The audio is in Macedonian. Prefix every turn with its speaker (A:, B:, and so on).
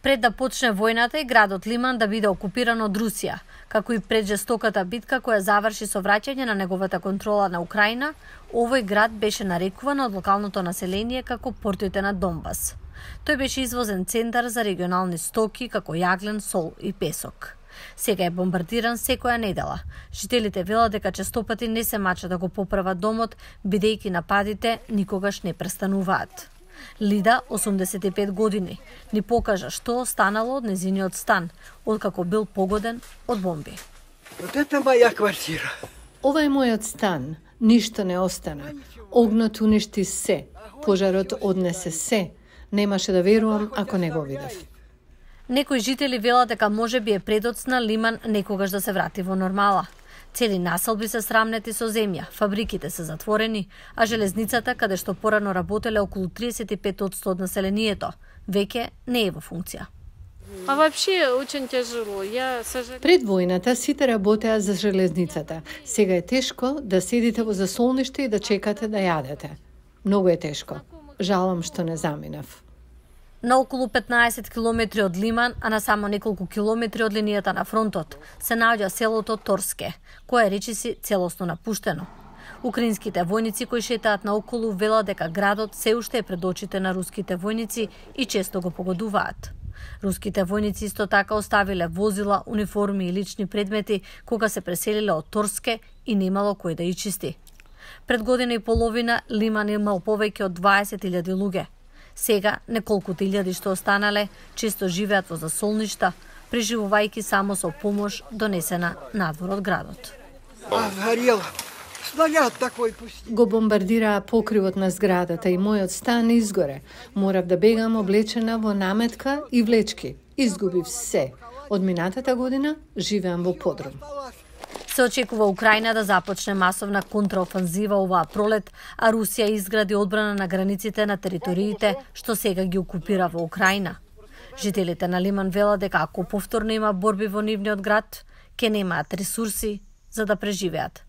A: Пред да почне војната и градот Лиман да биде окупиран од Русија, како и пред жестоката битка која заврши со враќање на неговата контрола на Украина, овој град беше нарекуван од локалното население како портите на Донбас. Тој беше извозен центар за регионални стоки како јаглен, сол и песок. Сега е бомбардиран секоја недела. Жителите велат дека честопати не се мачат да го поправат домот, бидејќи нападите никогаш не престануваат. Лида, 85 години, ни покажа што останало од незиниот стан, откако бил погоден од бомби.
B: Ова е мојот стан, ништо не остана. Огнот уништи се, пожарот однесе се. Немаше да верувам ако не го видев.
A: Некои жители велат дека можеби е предоцна Лиман некогаш да се врати во нормала. Цели населби се срамнети со земја, фабриките се затворени, а железницата, каде што порано работеле околу 35% од населението, веќе не е во функција.
B: Пред војната сите работеа за железницата. Сега е тешко да седите во засолниште и да чекате да јадете. Многу е тешко. Жалам што не заминав.
A: На околу 15 километри од Лиман, а на само неколку километри од линијата на фронтот, се наоѓа селото Торске, кое речиси целосно напуштено. Украинските војници кои шетаат наоколу велат дека градот се уште е пред очите на руските војници и често го погодуваат. Руските војници исто така оставиле возила, униформи и лични предмети кога се преселиле од Торске и немало кој да ја чисти. Пред година и половина Лиман имал повеќе од 20.000 луѓе. Сега, неколкуте илјади што останале, често живеат во засолништа, преживувајќи само со помош донесена надвор од градот.
B: Го бомбардираа покривот на зградата и мојот стан изгоре. Морав да бегам облечена во наметка и влечки. Изгубив се. Од минатата година живеам во подрум.
A: Се очекува Украина да започне масовна контраофанзива оваа пролет, а Русија изгради одбрана на границите на териториите што сега ги окупира во Украина. Жителите на Лиман велат дека ако повторно има борби во нивниот град, ќе немаат ресурси за да преживеат.